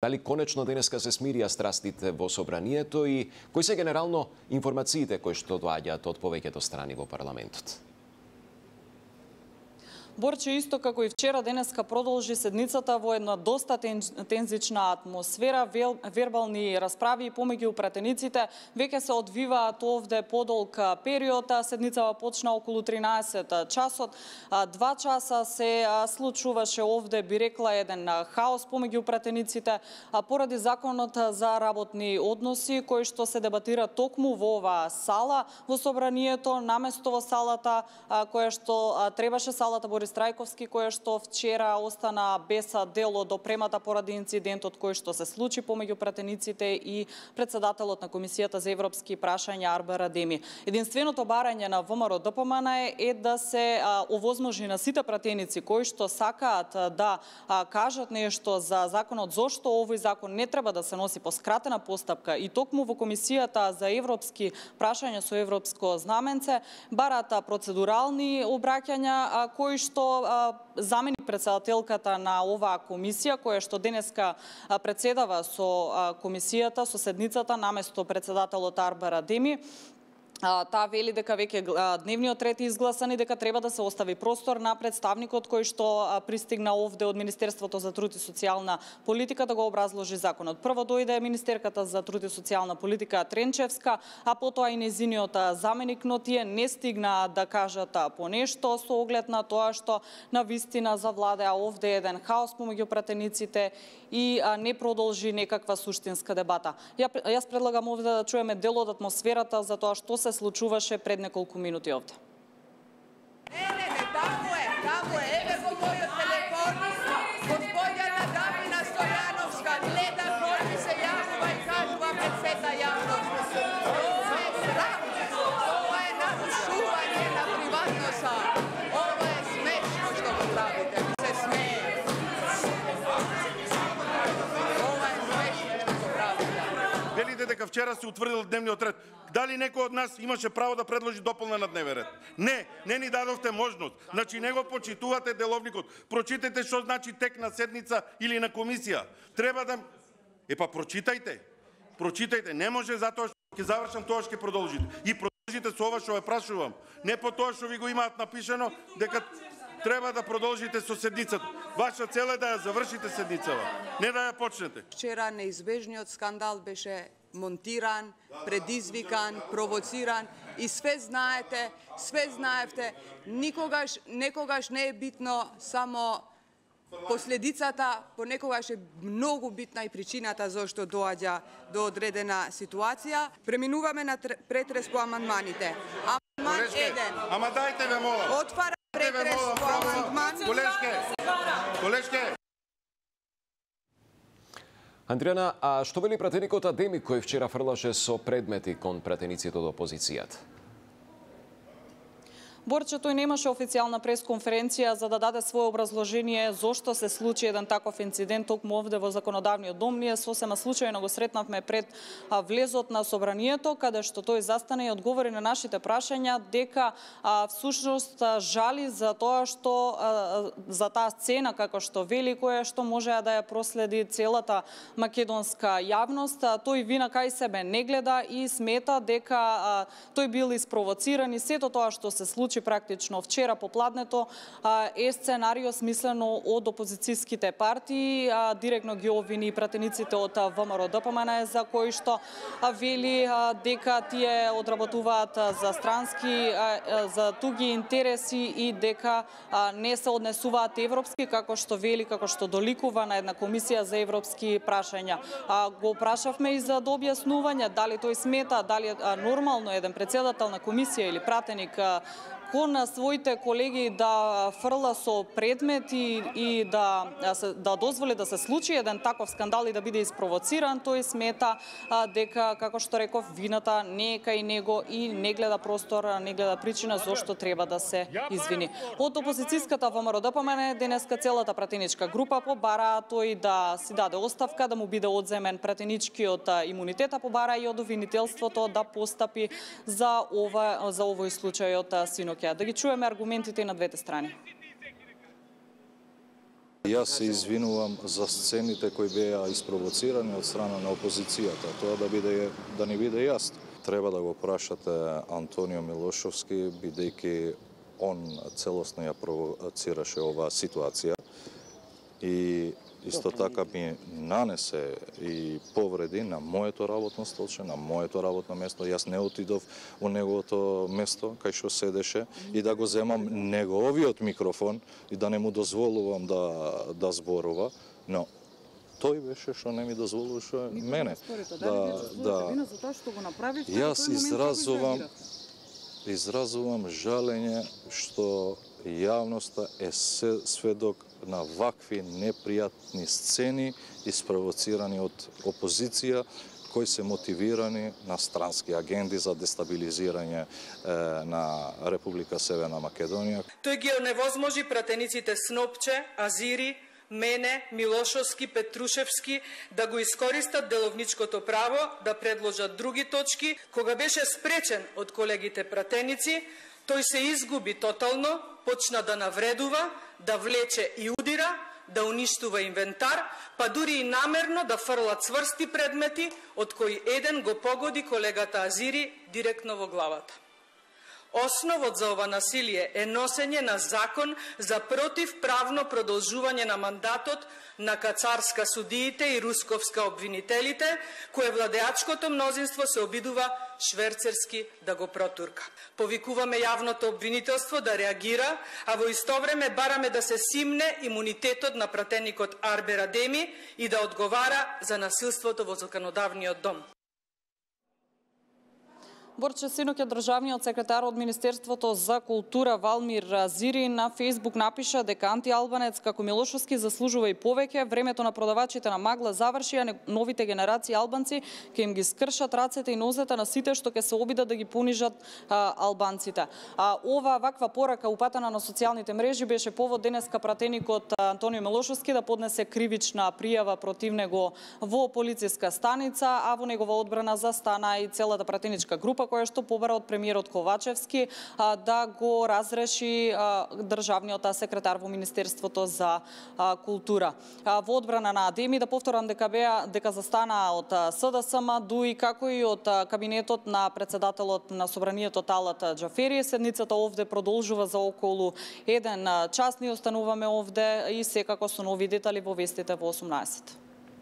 Дали конечно денеска се смирија страстите во собранието и кои се генерално информациите кои што доаѓаат од повеќето страни во парламентот? Борче, исто како и вчера, денеска продолжи седницата во една доста тензична атмосфера, вербални расправи помеѓу пратениците веќе се одвиваат овде подолг период. Седницава почна околу 13 часот. 2 часа се случуваше овде, би рекла, еден хаос помеѓу пратениците поради законот за работни односи кој што се дебатира токму во оваа сала во собранието, наместо во салата која што требаше, салата Борис Трајковски, која што вчера остана без дело до премата поради инцидентот кој што се случи помеѓу пратениците и председателот на Комисијата за европски прашања Арбер Адеми. Единственото барање на ВМРО-ДПМН е да се овозможи на сите пратеници кои што сакаат да кажат нешто за законот, зошто овој закон не треба да се носи по скратена постапка и токму во Комисијата за европски прашања со европско знаменце, бараат процедурални обраќања кои што заменик председателката на оваа комисија, која што денеска председава со комисијата, со седницата, наместо председателот Арбер Адеми. Таа вели дека веќе дневниот ред е изгласан и дека треба да се остави простор на представникот кој што пристигна овде од Министерството за труд и социјална политика да го образложи законот. Прво дојде министерката за труд и социјална политика Тренчевска, а потоа и нејзиниот заменик, но тие не стигнаа да кажат по нешто со оглед на тоа што на вистина завладеа овде еден хаос помеѓу пратениците и не продолжи некаква суштинска дебата. Јас предлагам овде да чуеме дел од атмосферата за тоа што се случуваше пред неколку минути овде. Тамо е, еве во мојот телефон, господјата Дамина Стојановска гледа кој ми се јавува и кажува пред сета јавност. Ова е срам, ова е нарушување на приватноста, ова е смешно што го правите, ми се смее. Ова е смешно што го правите. Велите дека вчера се утврдил дневниот ред. Дали некој од нас имаше право да предложи дополнен дневен ред? Не ни дадовте можност. Значи не го почитувате деловникот. Прочитайте што значи тек на седница или на комисија. Треба да прочитајте. Прочитајте. Не може затоа што ќе завршам тоа што ќе продолжите. И продолжите со ова што ве прашувам. Не по тоа што ви го имаат напишено дека треба да продолжите со седницата. Ваша цел е да ја завршите седницава, не да ја почнете. Вчера неизбежниот скандал беше монтиран, предизвикан, провоциран и све знаевте, некогаш не е битно само последицата, понекогаш е многу битна и причината зашто доаѓа до одредена ситуација. Преминуваме на претрес по амандманите. Амандман 1. Ама дајте ве мола. Отвара претрес по амандман. Колешке. Андријана, а што вели пратеникот Адеми кој вчера фрлаше со предмети кон пратениците од опозицијата? Борче, тој немаше официјална пресконференција за да даде свое образложение зошто се случи еден таков инцидент токму овде во законодавниот дом. Ние сосема случајно го сретнавме пред влезот на собранието, каде што тој застане и одговори на нашите прашања дека всушност жали за тоа што за таа сцена, како што вели, која што може да ја проследи целата македонска јавност. Тој вина кај себе не гледа и смета дека тој бил испровоциран и сето тоа што се случи практично вчера попладнето е сценарио смислено од опозицијските партии, директно ги обвини пратениците од ВМРО-ДПМН за кои што вели дека тие одработуваат за странски, за туги интереси и дека не се однесуваат европски, како што вели, како што доликува на една комисија за европски прашања. Го прашавме и за да објаснување дали тој смета, дали е нормално еден председател на комисија или пратеник кон своите колеги да фрла со предмети и да дозволи да се случи еден таков скандал и да биде испровоциран. Тој смета дека, како што реков, вината не е кај него и не гледа простор, не гледа причина зошто треба да се извини. Од опозицијската ВМРО-ДПМН денеска целата пратеничка група побара тој да си даде оставка, да му биде одземен пратеничкиот имунитет, а побара и од обвинителството да постапи за овој случај од синоќа. Да ги чуеме аргументите на двете страни. Јас се извинувам за сцените кои беа испровоцирани од страна на опозицијата. Тоа да не биде јасно. Треба да го прашате Антонио Милошовски, бидејќи он целосно ја провоцираше оваа ситуација и исто така ми нанесе и повреди на моето работно столче, на моето работно место. Јас не отидов у неговото место, кај што седеше, и да го земам неговиот микрофон и да не му дозволувам да зборува, но тој беше што не ми дозволуваше мене. Јас изразувам жалење што јавноста е сведок на вакви непријатни сцени испровоцирани од опозиција кои се мотивирани на странски агенди за дестабилизирање на Република Северна Македонија. Тој ги оневозможи пратениците Снопче, Азири, мене, Милошовски, Петрушевски да го искористат деловничкото право да предложат други точки. Кога беше спречен од колегите пратеници, тој се изгуби тотално, почна да навредува, да влече и удира, да уништува инвентар, па дури и намерно да фрла цврсти предмети, од кои еден го погоди колегата Азири директно во главата. Основот за ова насилие е носење на закон за противправно продолжување на мандатот на Кацарска судиите и Русковска обвинителите, кое владеачкото мнозинство се обидува шверцерски да го протурка. Повикуваме јавното обвинителство да реагира, а во исто време бараме да се симне имунитетот на пратеникот Арбер Адеми и да одговара за насилството во законодавниот дом. Борче синоќа државниот секретар од Министерството за култура Валмир Зири на Фејсбук напиша дека антиалбанец како Милошовски заслужува и повеќе. Времето на продавачите на магла заврши, а новите генерации албанци ќе им ги скршат рацете и нозете на сите што ќе се обидат да ги понижат албанците. Ова ваква порака упатена на социјалните мрежи беше повод денеска пратеникот Антонио Милошовски да поднесе кривична пријава против него во полициска станица, а во негова одбрана застана и целата пратеничка група која што побара од премиерот Ковачевски да го разреши државниот секретар во Министерството за култура. Во одбрана на Адеми, да повторам дека застана од СДСМ, дуи како и од кабинетот на председателот на Собранието Талат Џафери. Седницата овде продолжува за околу 1 час. Ни остануваме овде и секако со нови детали во вестите во 18.